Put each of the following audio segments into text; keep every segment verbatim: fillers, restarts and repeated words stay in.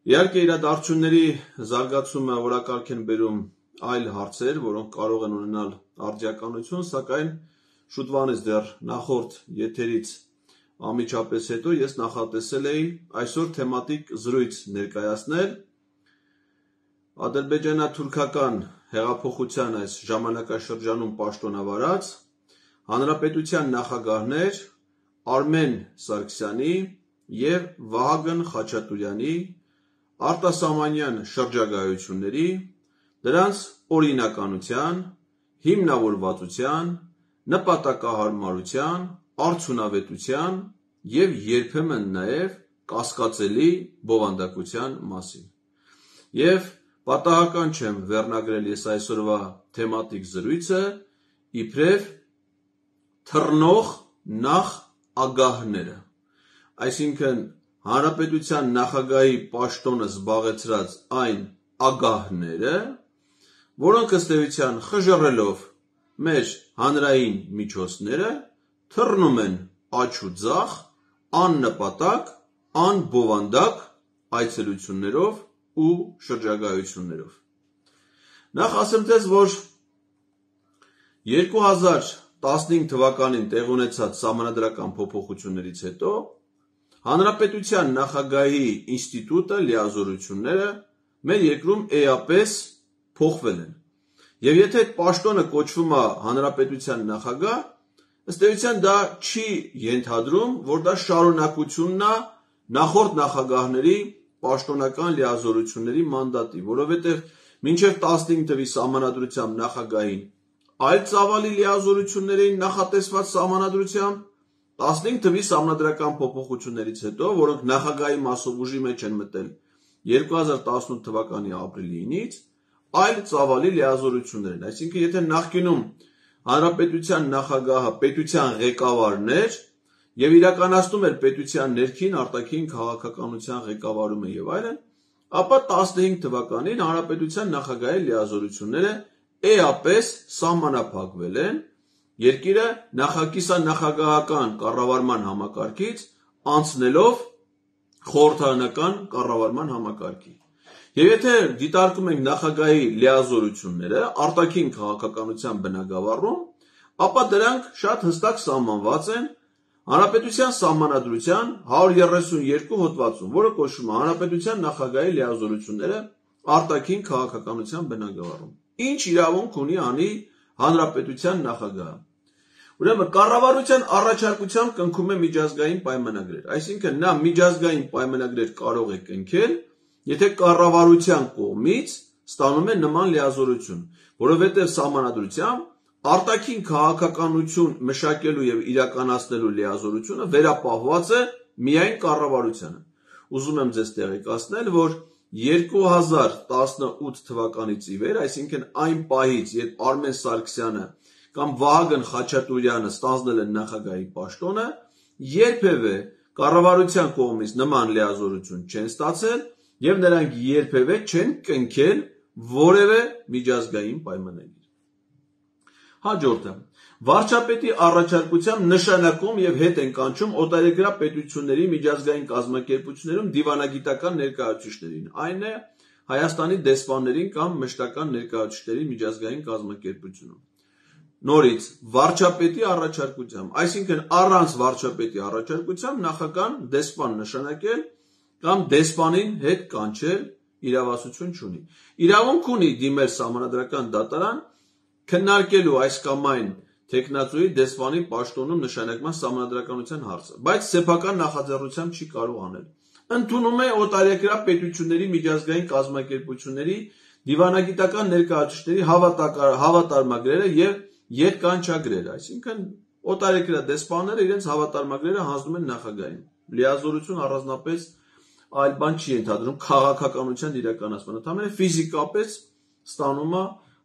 Իհարկե իրադարձությունների զարգացումը որակարգ են բերում այլ հարցեր, որոնք կարող են ունենալ արդիականություն, սակայն շուտվանից դեռ նախորդ եթերից անմիջապես հետո ես նախատեսել էի այսօր թեմատիկ զրույց ներկայացնել ադրբեջանա-թուրքական հեղափոխության այս ժամանակաշրջանում պաշտոնավարած հանրապետության նախագահներ Արմեն Սարգսյանի և Վահագն Խաչատուրյանի արտասահմանյան շրջագայությունների, դրանց օրինականության, հիմնավորվածության, նպատակահարմարության, արդյունավետության և երբեմն նաև կասկածելի բովանդակության մասին։ Եվ պատահական չեմ վերնագրել ես այսօրվա թեմատիկ զրույցը իբրև թռնող նախագահները, այսինքն հանրապետության նախագահի պաշտոնը զբաղեցրած այն ագահները, որոնք ըստ էության խժռելով մեր հանրային միջոցները թռնում են աջ ու ձախ, աննպատակ, անբովանդակ այցելություններով ու շրջագայություններով։ Նախ ասեմ ձեզ, որ երկու հազար տասնհինգ թվականին տեղի ունեցած սահմանադրական փոփոխություններից հետո հանրապետության նախագահի ինստիտուտը, լիազորությունները մեր երկրում էապես փոխվել են։ Եվ եթե այդ պաշտոնը կոչվում է հանրապետության նախագահ, ըստ էության դա չի ենթադրում, որ դա շարունակությունն է նախորդ նախագահների պաշտոնական լիազորությունների մանդատի, որովհետև մինչև տասնհինգ թվականի սահմանադրությամբ նախագահին այլ ծավալի լիազորություններ էին նախատեսված սահմանադրությամբ, տասնհինգ թվականի սահմանադրական փոփոխություններից հետո, որոնք նախագահի մասով ուժի մեջ են մտել երկու հազար տասնութ թվականի ապրիլի ինից, այլ ծավալի լիազորություններ են։ Այսինքն, եթե նախկինում հանրապետության նախագահը պետության ղեկավարն էր և իրականացնում էր պետության ներքին արտաքին քաղաքականության ղեկավարումը և այլն, ապա տասնհինգ թվականին հանրապետության նախագահի լիազորությունները էապես սահմանափակվել են, երկիրը նախակիսանախագահական կառավարման համակարգից անցնելով խորհրդարանական կառավարման համակարգի։ Եվ եթե դիտարկում ենք նախագահի լիազորությունները արտաքին քաղաքականության բնագավառում, ապա դրանք շատ հստակ սահմանված են հանրապետության սահմանադրության հարյուր երեսունյոթ հոդվածում, որը կոչվում է հանրապետության նախագահի լիազորությունները արտաքին քաղաքականության բնագավառում։ Ինչ իրավունք ունի անի հանրապետության նախագահը։ Ուրեմն կառավարության առաջարկությամբ կնքում է միջազգային պայմանագրեր, այսինքն նա միջազգային պայմանագրեր կարող է կնքել, եթե կառավարության կողմից ստանում է նման լիազորություն, որովհետև սահմանադրությամբ արտաքին քաղաքականություն մշակելու և իրականացնելու լիազորությունը վերապահված է միայն կառավարությանը։ Ուզում եմ ձեզ տեղեկացնել, որ երկու հազար տասնութ թվականից ի վեր, այսինքն այն պահից, երբ Արմեն Սարգսյանը կամ Վահագն Խաչատուրյանը ստանձնել են նախագահի պաշտոնը, երբևէ կառավարության կողմից նման լիազորություն չեն ստացել և նրանք երբևէ չեն կնքել որևէ միջազգային պայմանագիր։ Հաջորդը, վարչապետի առաջարկությամբ նշանակում և հետ են կանչում օտարերկրյա պետությունների միջազգային կազմակերպություններում դիվանագիտական ներկայացուցիչներին, այն է Հայաստանի դեսպաններին կամ մշտական ներկայացուցիչների միջազգային կազմակերպությունում։ Նորից, վարչապետի առաջարկությամբ, այսինքն առանց վարչապետի առաջարկությամբ նախագահան դեսպան նշանակել կամ դեսպանին հետ կանչել իրավասություն չունի։ Իրավունք ունի դիմել սահմանադրական դատարան քննարկելու այս կամ այն թեկնածուի դեսպանի պաշտոնում նշանակման սահմանադրականության հարցը, բայց սեփական նախաձեռնությամբ չի կարող անել։ Ընդունում է օտարերկրյա պետությունների միջազգային կազմակերպությունների դիվանագիտական ներկայացուցիչների հավատարմագրերը և ետկանչագրերը, այսինքն օտարերկրյա դեսպանները իրենց հավատարմագրերը հանձնում են նախագահին։ Լիազորություն առանձնապես այլ բան չի ենթադրում քաղաքականության իրականացման, ընդամենը ֆիզիկապես ստանում է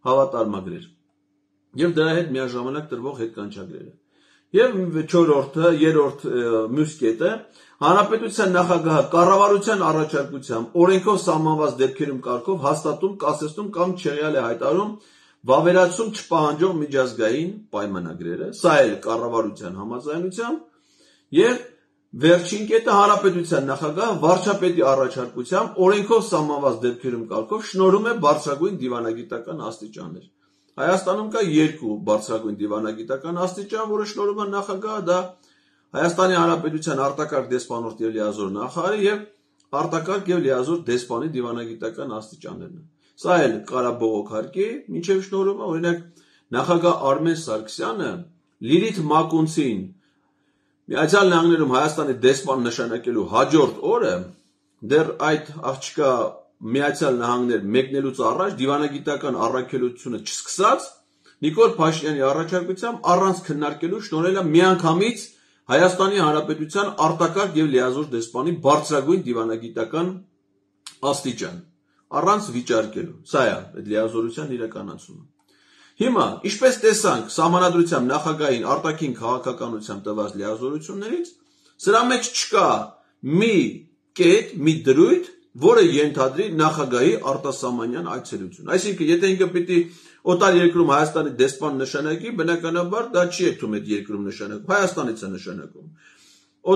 հավատարմագրեր և դրա հետ միաժամանակ տրվող հետկանչագրերը։ Եվ չորրորդը, երրորդ մյուս կետը, հանրապետության նախագահը կառավարության առաջարկությամբ օրենքով սահմանված դեպքերում կարգով հաստատում, կասեցնում կամ չեղյալ է հայտարարում վավերացում չպահանջող միջազգային պայմանագրերը, սա էլ կառավարության համաձայնությամբ, և Վերջին կետը հանրապետության նախագահը վարչապետի առաջարկությամբ օրենքով սահմանված դեպքերում կարգով շնորհում է բարձրագույն դիվանագիտական աստիճաններ։ Հայաստանում կա երկու բարձրագույն դիվանագիտական աստիճան, որը շնորհում է նախագահը, դա Հայաստանի Հանրապետության արտակարգ դեսպանորդ եւ լիազոր նախարարը եւ արտակարգ եւ լիազոր դեսպանի դիվանագիտական աստիճաններն են։ Սա էլ կարա բողոքարկի, մինչեւ շնորհումը, օրինակ նախագահ Արմեն Սարգսյանը Լիլիթ Մակունցին Միացյալ Նահանգներում Հայաստանի դեսպան նշանակելու հաջորդ օրը դեռ այդ աղջկա Միացյալ Նահանգներ մեկնելուց առաջ դիվանագիտական առաքելությունը չսկսած Նիկոլ Փաշինյանի առաջարկությամբ առանց քննարկելու շնորհել է միանգամից Հայաստանի Հանրապետության արտակարգ եւ լիազոր դեսպանի բարձրագույն դիվանագիտական աստիճան առանց վիճարկելու։ Սա է այդ լիազորության իրականացումը։ Հիմա, ինչպես տեսանք Սահմանադրությամբ նախագահին արտաքին քաղաքականությամբ տված լիազորություններից, սրա մեջ չկա մի կետ, մի դրույթ, որը ենթադրի նախագահի արտասահմանյան այցելություն։ Այսինքն, եթե ինքը պիտի օտար երկրում Հայաստանի դեսպան նշանակի, բնականաբար դա չի եկում այդ երկրում նշանակում, Հայաստանից է նշանակում։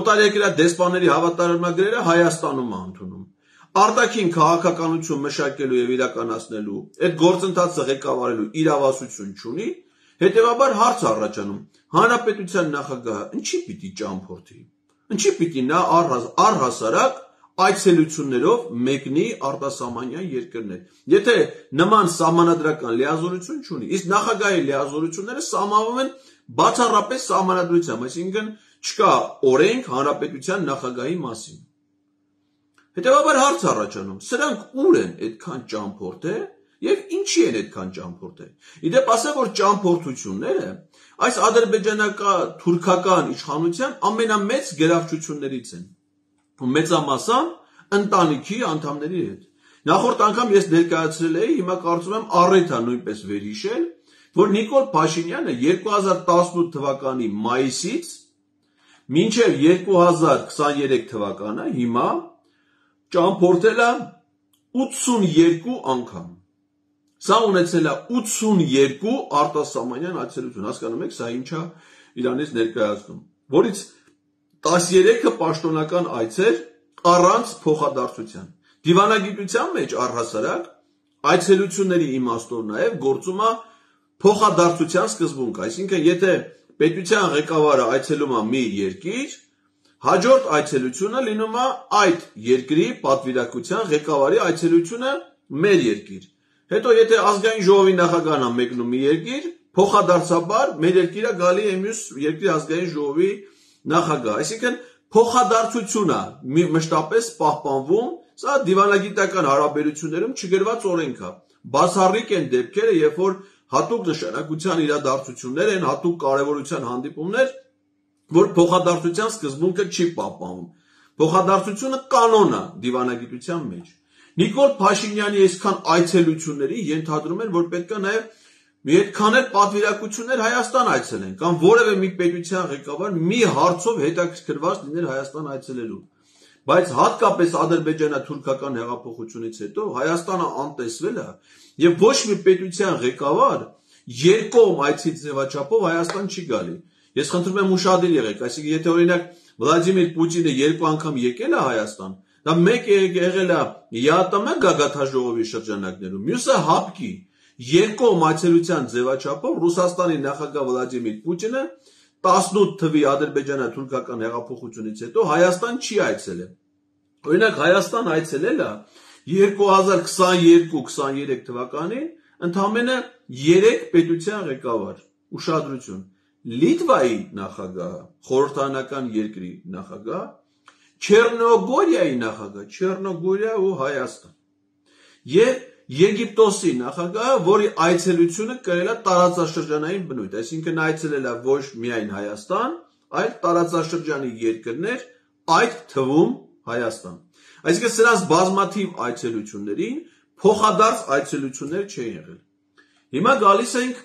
Օտարերկրյա դեսպանների հավատարմագրերը Հայաստանում է ընդունում։ Արտաքին քաղաքականություն մշակելու եւ իրականացնելու այդ գործընթացը ղեկավարելու իրավասություն չունի, հետեւաբար հարց առաջանում. Հանրապետության նախագահը ինչի պիտի ճամփորդի, ինչի պիտի նա առհասարակ այցելություններով մեկնի արտասահմանյան երկրներ, եթե նման սահմանադրական լիազորություն չունի, իսկ նախագահի լիազորությունները սահմանվում են բացառապես սահմանադրությամբ, այսինքն չկա օրենք հանրապետության նախագահի մասին։ Հետևաբար հարց առաջանում, սրանք ուր են այդքան ճամփորդել եւ ինչի են այդքան ճամփորդել։ Իդեպ ասեմ, որ ճամփորդությունները այս ադրբեջանական-թուրքական իշխանության ամենամեծ գերավչություններից են։ Մեծամասամբ ընտանիքի անդամների հետ։ Նախորդ անգամ ես ներկայացրել էի, հիմա կարծում եմ առիթ է նույնպես վերհիշել, որ Նիկոլ Փաշինյանը երկու հազար տասնութ թվականի մայիսից մինչև երկու հազար քսաներեք թվականը հիմա ճամփորդել է ութսունյերկու անգամ։ Սա ունեցել է ութսունյերկու արտասահմանյան այցելություն, հասկանում եք, սա ինչա իրանից ներկայացնում, որից տասներեքը պաշտոնական այցեր առանց փոխադարձության։ Դիվանագիտության մեջ առհասարակ այցելությունների իմաստով նաև գործում է փոխադարձության սկզբունքը, այսինքն եթե պետության ղեկավարը այցելում է մի երկիր, հաջորդ այցելությունը լինում է այդ երկրի պատվիրակության ղեկավարի այցելությունը մեր երկիր։ Հետո եթե ազգային ժողովի նախագահն է մեկնում մի երկիր, փոխադարձաբար մեր երկիրը գալի է մյուս երկրի ազգային ժողովի նախագահ, այսինքն փոխադարձությունը մշտապես պահպանվում, սա դիվանագիտական հարաբերություններում չգրված օրենք է։ Բացառիկ են դեպքերը, երբ որ հատուկ նշանակության իրադարձություններ են, հատուկ կարևորության հանդիպումներ, որ փոխադարձության սկզբունքը չի պահպանվում։ Փոխադարձությունը կանոն է դիվանագիտության մեջ։ Նիկոլ Փաշինյանի այսքան այցելությունների ենթադրում են, որ պետք է նաև մի այդքան էլ պատվիրակություններ Հայաստան այցելեն, կամ որևէ մի պետության ղեկավար մի հարցով հետաքրքրված լիներ Հայաստան այցելելու։ Բայց հատկապես ադրբեջանա-թուրքական հեղափոխությունից հետո Հայաստանը անտեսվել է եւ ոչ մի պետության ղեկավար երկկողմ այցի ձևաչափով Հայաստան չի գալի։ Ես խնդրում եմ ուշադիր եղեք, այսինքն եթե օրինակ Վլադիմիր Պուտինը երկու անգամ եկել է Հայաստան, դա մեկ եղել է ԵԱՏՄ գագաթաժողովի շրջանակներում, մյուսը ՀԱՊԿ-ի երկկողմ այցելության ձևաչափով Ռուսաստանի նախագահ Վլադիմիր Պուտինը տասնութ թվականի ադրբեջանա-թուրքական հեղափոխությունից հետո Հայաստան չի այցելել։ Օրինակ Հայաստան այցելել է երկու հազար քսաներկու քսաներեք թվականին ընդամենը երեք պետության ղեկավար։ Ուշադրություն։ Լիտվայի նախագահը, խորհրդարանական երկրի նախագահ, Չեռնոգորիայի նախագահ, Չեռնոգորիա ու Հայաստան։ Եվ Եգիպտոսի նախագահը, որի այցելությունը կրել է տարածաշրջանային բնույթ, այսինքն այցելել է ոչ միայն Հայաստան, այլ տարածաշրջանի երկրներ, այդ թվում Հայաստան։ Այսինքն սրանց բազմաթիվ այցելություններին փոխադարձ այցելություններ չեն եղել։ Հիմա գալիս ենք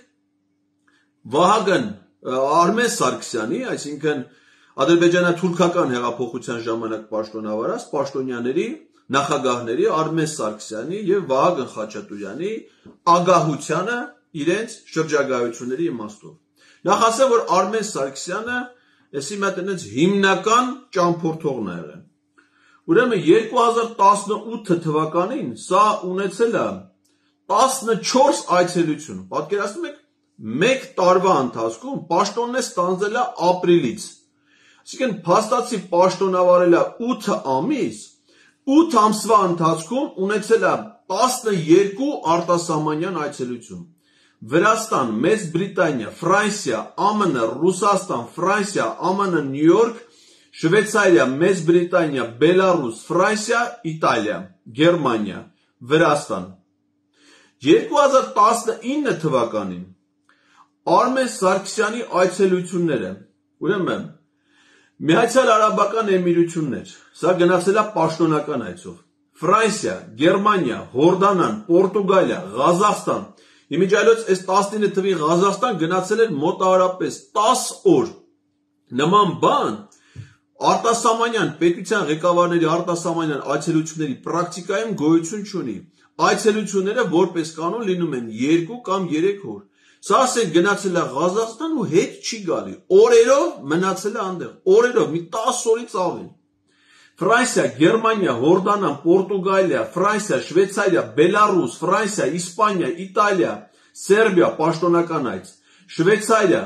Վահագն Արմեն Սարգսյանի, այսինքն ադրբեջանա-թուրքական հեղափոխության ժամանակ պաշտոնավարած պաշտոնյաների նախագահների Արմեն Սարգսյանի եւ Վահագն Խաչատուրյանի ագահությանը իրենց շրջագայությունների իմաստով։ Նախ ասեմ, որ Արմեն Սարգսյանը էսի մատ այնց հիմնական ճամփորդողն է եղել։ Ուրեմն երկու հազար տասնութ թվականին սա ունեցել է տասնչորս այցելություն։ Պատկերացնում եք, մեկ տարվա ընթացքում պաշտոնն է ստանձնել է ապրիլից։ Այսինքն փաստացի պաշտոնավարել է ութ ամիս, ութ ամսվա ընթացքում ունեցել է տասնյոթ արտասահմանյան այցելություն։ Վրաստան, Մեծ Բրիտանիա, Ֆրանսիա, ԱՄՆ, Ռուսաստան, Ֆրանսիա, ԱՄՆ, Նյու Յորք, Շվեյցարիա, Մեծ Բրիտանիա, Բելարուս, Ֆրանսիա, Իտալիա, Գերմանիա, Վրաստան։ երկու հազար տասնինը թվականին Արմեն Սարգսյանի այցելությունները, ուրեմն Միացյալ Արաբական Էմիրություններ, սա գնացել է պաշտոնական այցով, Ֆրանսիա, Գերմանիա, Հորդանան, Պորտուգալիա, Ղազախստան, իմիջիայլոց այս տասնինը թվի Ղազախստան գնացել էր մոտավորապես տասը օր, նման բան արտասահմանյան պետության ղեկավարների արտասահմանյան այցելությունների պրակտիկայում գոյություն չունի, այցելությունները որպես կանոն լինում են երկու կամ երեք օր, սա ասենք գնացել է Ղազախստան ու հետ չի գալի, օրերով մնացել է այնտեղ, օրերով մի տասը օրից ավել, Ֆրանսիա, Գերմանիա, Հորդանան, Պորտուգալիա, Ֆրանսիա, Շվեյցարիա, Բելարուս, Ֆրանսիա, Իսպանիա, Իտալիա, Սերբիա, պաշտոնական այց, Շվեյցարիա,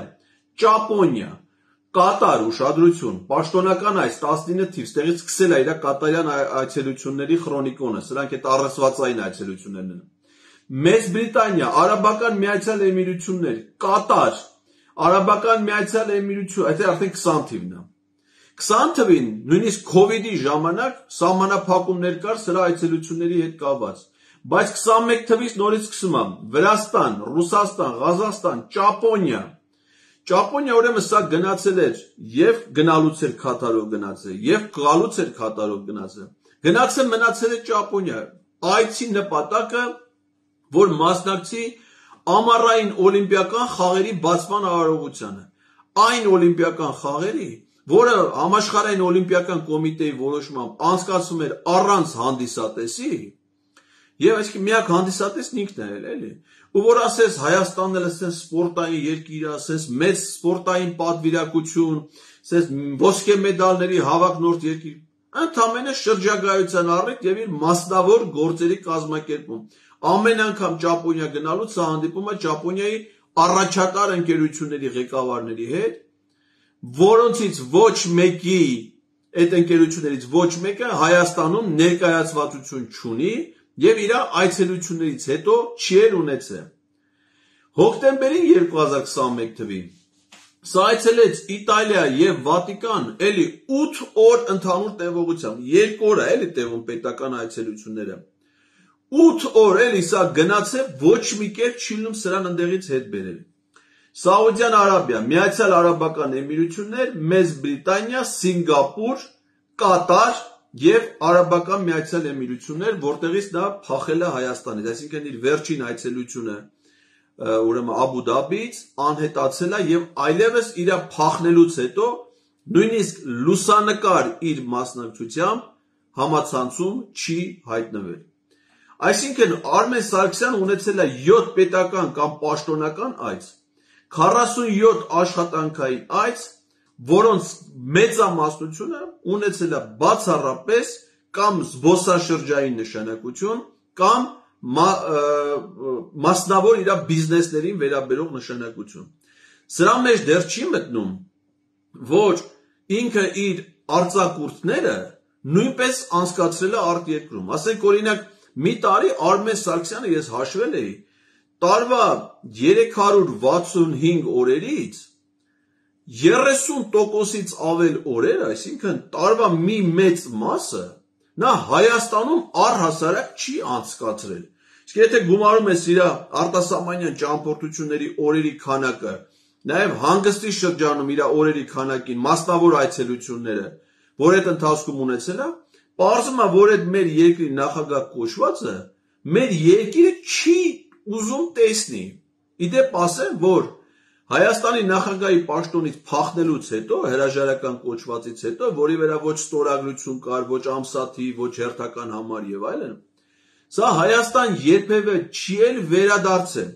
Ճապոնիա, Կատար, ուշադրություն, պաշտոնական այց տասնինը թիվ, ստեղից սկսել է իր կատարյան այցելությունների քրոնիկոնը, սրանք այդ առասվածային այցելություններն են։ Մեծ Բրիտանիա, Արաբական Միացյալ Էմիրություններ, Կատար, Արաբական Միացյալ Էմիրություն, այդ արդեն քսան թիվն է։ քսան թվին նույնիսկ քովիդի ժամանակ սահմանափակումներ կար սրա այցելությունների հետ կապված, բայց քսանմեկ թվից նորից սկսում է Վրաստան, Ռուսաստան, Ղազախստան, Ճապոնիա, Ճապոնիա ուրեմն սա գնացել էր եւ գնալուց էր Քաթարով գնացել, եւ գալուց էր Քաթարով գնացել, գնացել մնացել է Ճապոնիա, այցի նպատակը, որ մասնակցի ամառային օլիմպիական խաղերի բացման արարողությանը, այն օլիմպիական խաղերի, որը համաշխարհային օլիմպիական կոմիտեի որոշմամբ անցկացվում էր առանց հանդիսատեսի, եւ այսինքն միակ հանդիսատեսն ինքն էր, էլի, ու որ ասես Հայաստանն էլ ասես սպորտային երկիր, ասես մեծ սպորտային պատվիրակություն, ասես ոսկե մեդալների հավակնորդ երկիր, ընդամենը շրջագայության առիթ եւ իր մասնավոր գործերի կազմակերպում։ Ամեն անգամ Ճապոնիա գնալուց սա հանդիպում է Ճապոնիայի առաջատար ընկերությունների ղեկավարների հետ, որոնցից ոչ մեկի այդ ընկերություններից ոչ մեկը Հայաստանում ներկայացվածություն չունի եւ իր այցելություններից հետո չի էլ ունեցել։ Հոկտեմբերին երկու հազար քսանմեկ թվին սա այցելեց Իտալիա եւ Վատիկան, էլի ութ օր ընդհանուր տևողությամբ, երկու օր է էլի տևում պետական այցելությունները։ ութ օր էլի սա գնացել, ոչ մի կերպ չի լինում սրան ընդեղից հետ բերել։ Սաուդյան Արաբիա, Միացյալ Արաբական Էմիրություններ, Մեծ Բրիտանիա, Սինգապուր, Կատար եւ Արաբական Միացյալ Էմիրություններ, որտեղից նա փախել է Հայաստանից, այսինքն իր վերջին այցելությունը ուրեմն Աբու Դաբիից անհետացել է եւ այլևս իր փախնելուց հետո նույնիսկ լուսանկար իր մասնակցությամբ համացանցում չի հայտնվել։ Այսինքն Արմեն Սարգսյանը ունեցել է յոթ պետական կամ պաշտոնական այց, քառասունյոթ աշխատանքային այց, որոնց մեծամասնությունը ունեցել է բացառապես կամ զբոսաշրջային նշանակություն կամ մասնավոր իր բիզնեսներին վերաբերող նշանակություն։ Սրա մեջ դեռ չի մտնում, որ ինքը իր արձակուրդները նույնպես անցկացրել է արտերկրում։ Ասենք օրինակ մի տարի Արմեն Սարգսյանը ես հաշվել էի, տարվա երեք հարյուր վաթսունհինգ օրերից երեսուն տոկոսից ավել օրեր, այսինքն տարվա մի մեծ մասը նա Հայաստանում առհասարակ չի անցկացրել։ Իսկ եթե գումարում ես իր արտասահմանյան ճամփորդությունների օրերի քանակը, նաև հանգստի շրջանում իր օրերի քանակին, մասնավոր այցելությունները, որ այդ ընթացքում ունեցել է, պարզվում է, որ այդ մեր երկրի նախագահ կոչվածը մեր երկիրը չի ուզում տեսնի։ Իդեպ ասեմ, որ Հայաստանի նախագահի պաշտոնից փախնելուց հետո, հրաժարական կոչվածից հետո, որի վրա ոչ ստորագրություն կար, ոչ ամսաթիվ, ոչ հերթական համար եւ այլն, սա Հայաստան երբևէ չի էլ վերադարձել։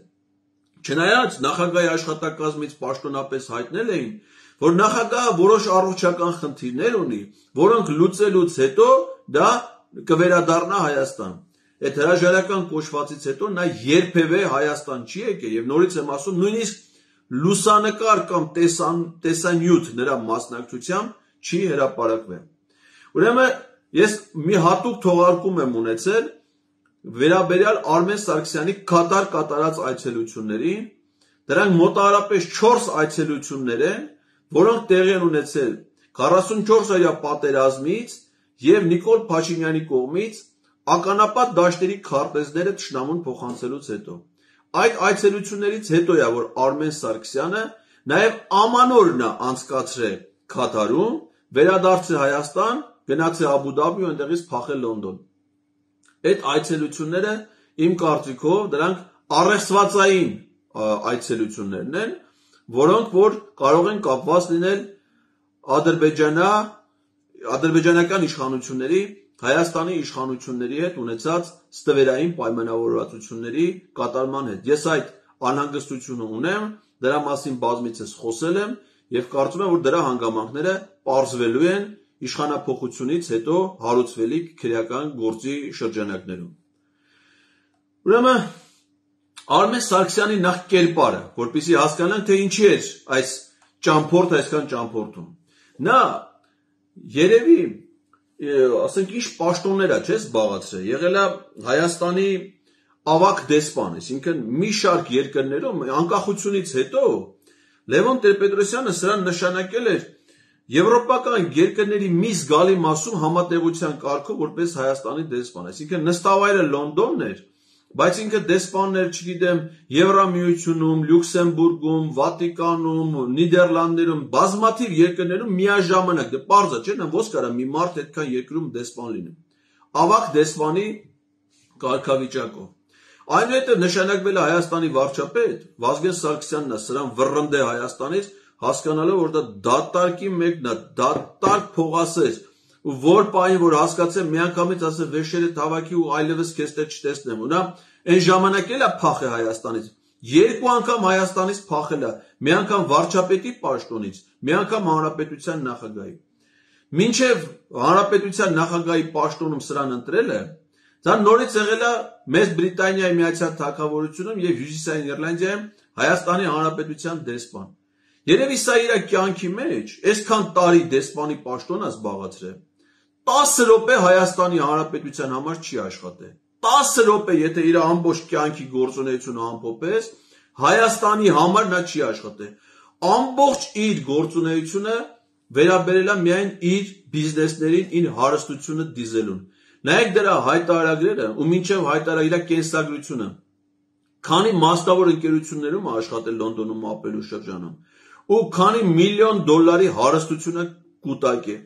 Չնայած նախագահի աշխատակազմից պաշտոնապես հայտնել էին, որ նախագահը որոշ առողջական խնդիրներ ունի, որոնք լուծելուց հետո դա կվերադառնա Հայաստան։ Այդ հրաժարական կոչվածից հետո նա երբևէ Հայաստան չի եկել եւ նորից եմ ասում, նույնիսկ լուսանկար կամ տեսան, տեսանյութ նրա մասնակցությամբ չի հրապարակվել։ Ուրեմն ես մի հատուկ թողարկում եմ ունեցել վերաբերյալ Արմեն Սարգսյանի Կատար կատարած այցելություններին, դրանք մոտավորապես չորս այցելություններ են, որոնք տեղի են ունեցել քառասունչորս օրյա պատերազմից եւ Նիկոլ Փաշինյանի կողմից ականապատ դաշտերի քարտեզները թշնամուն փոխանցելուց հետո։ Այդ այցելություններից հետո է, որ Արմեն Սարգսյանը նաեւ ամանորն է անցկացրել Կատարում, վերադարձել Հայաստան, գնացել Աբու Դաբի ու այնտեղից փախել Լոնդոն։ Այդ այցելությունները իմ կարծիքով դրանք առեղծվածային այցելություններն են, որոնք որ կարող են կապված լինել Ադրբեջանա, ադրբեջանական իշխանությունների, Հայաստանի իշխանությունների հետ ունեցած ստվերային պայմանավորվածությունների կատարման հետ։ Ես այդ անհանգստությունը ունեմ, դրա մասին բազմիցս խոսել եմ եւ կարծում եմ, որ դրա հանգամանքները պարզվելու են իշխանափոխությունից հետո հարուցվելիք քրեական գործի շրջանակներում։ Ուրեմն Արմեն Սարգսյանի նախ կերպարը, որպեսզի հասկանանք, թե ինչի է այս ճամփորդը այսքան ճամփորդում։ Նա երևի, ասենք, ինչ պաշտոններ է, չէ՞, զբաղացրել։ Եղել է Հայաստանի ավագ դեսպան, այսինքն մի շարք երկրներում անկախությունից հետո Լևոն Տեր-Պետրոսյանը սրան նշանակել էր եվրոպական երկրների մի զգալի մասում համատեղության կարգով որպես Հայաստանի դեսպան, այսինքն նստավայրը Լոնդոնն էր, բայց ինքը դեսպաններ, չգիտեմ, Եվրամիությունում, Լյուքսեմբուրգում, Վատիկանում, Նիդերլանդներում, բազմաթիվ երկրներում միաժամանակ, դե պարզ է, չէ՞, ոնց կարա մի մարդ այդքան երկրում դեսպան լինի։ Ավագ դեսպանի կարգավիճակով։ Այնուհետև նշանակվել է Հայաստանի վարչապետ, Վազգեն Սարգսյանն է սրան վռնդե Հայաստանից, հասկանալով, որ դա դատարկի մեկն է, դատարկ փողասեր, ու որ պահին, որ հասկացեմ, միանգամից ասել վեշերը թավակի ու այլևս քեզ տեղ չտեսնեմ, ու նա այն ժամանակ էլ է փախել Հայաստանից, երկու անգամ Հայաստանից փախել է, մի անգամ վարչապետի պաշտոնից, մի անգամ հանրապետության նախագահի։ Մինչև հանրապետության նախագահի պաշտոնում սրան ընտրել է, դա նորից եղել է Մեծ Բրիտանիայի Միացյալ Թագավորությունում եւ Հյուսիսային Իռլանդիայում Հայաստանի Հանրապետության դեսպան։ Երևի սա իր կյանքի մեջ այսքան տարի դեսպանի պաշտոն է զբաղացրել։ տասը րոպե Հայաստանի Հանրապետության համար չի աշխատել։ տասը րոպե, եթե իր ամբողջ կյանքի գործունեությունը ամփոփես, Հայաստանի համար նա չի աշխատել։ Ամբողջ իր գործունեությունը վերաբերել է միայն իր բիզնեսներին, իր հարստությունը դիզելուն։ Նայեք դրա հայտարարագրերը ու մինչև հայտարար իր կենսագրությունը։ Քանի մասնավոր ընկերություններում աշխատել Լոնդոնում ապրելու շրջանում ու քանի միլիոն դոլարի հարստությունը կուտակ է։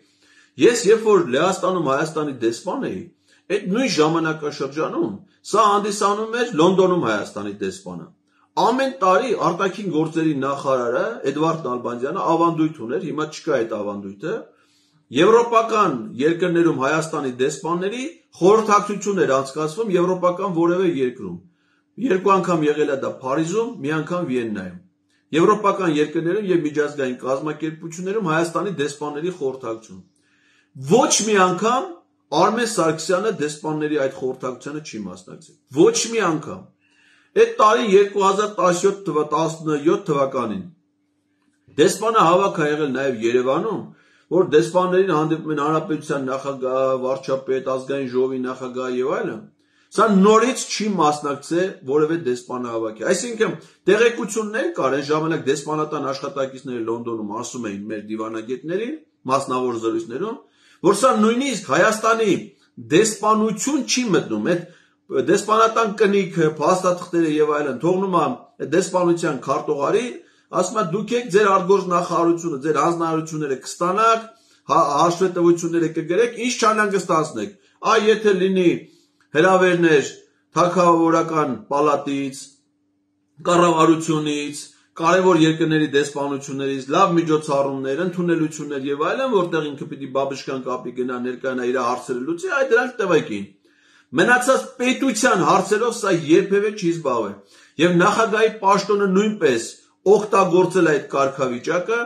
Ես երբ որ Լեհաստանում Հայաստանի դեսպան էի, այդ նույն ժամանակաշրջանում սա հանդիսանում էր Լոնդոնում Հայաստանի դեսպանը։ Ամեն տարի արտաքին գործերի նախարարը Էդվարդ Նալբանդյանը ավանդույթ ուներ, հիմա չկա այդ ավանդույթը, եվրոպական երկրներում Հայաստանի դեսպանների խորհրդակցություն էր անցկացվում եվրոպական որևէ երկրում։ Երկու անգամ եղել է դա Փարիզում, մի անգամ Վիեննայում։ Եվրոպական երկրներում եւ միջազգային կազմակերպություններում Հայաստանի դեսպանների խորհրդակցություն։ Ոչ մի անգամ Արմեն Սարգսյանը դեսպանների այդ խորհրդակցությանը չի մասնակցել։ Ոչ մի անգամ։ Այդ տարի երկու հազար տասնյոթ թվականին դեսպանը հավաք է եղել նաեւ Երևանում, որ դեսպաններին հանդիպում են հանրապետության նախագահ, վարչապետ, ազգային ժողովի նախագահ եւ այլն։ Սա նորից չի մասնակցել որևէ դեսպանահավաքի։ Այսինքն տեղեկություններ կար այն ժամանակ դեսպանատան աշխատակիցները Լոնդոնում ասում էին մեր դիվանագետներին, մասնավոր զրույցներում, որ սա նույնիսկ Հայաստանի դեսպանություն չի մտնում, այդ դեսպանատան կնիքը, փաստաթղթերը եւ այլն թողնում է դեսպանության քարտուղարի, ասում է դուք եք ձեր արտգործնախարարությունը, ձեր հանձնարարությունները կստանաք, հաշվետվությունները կգրեք, ինչ չանհանգստացնեք։ Այ եթե լինի հրավերներ թագավորական պալատից, կառավարությունից, կարևոր երկրների դեսպանություններից, լավ միջոցառումներ, ընդունելություններ եւ այլն, որտեղ ինքը պիտի բաբշկան կապի գնա ներկայանա իր հարցերը լուծի, այդ դրանք տվեկին։ Մնացած պետության հարցերով սա երբևէ չի զբաղվել։ Եվ նախագահի պաշտոնը նույնպես օգտագործել այդ կարգավիճակը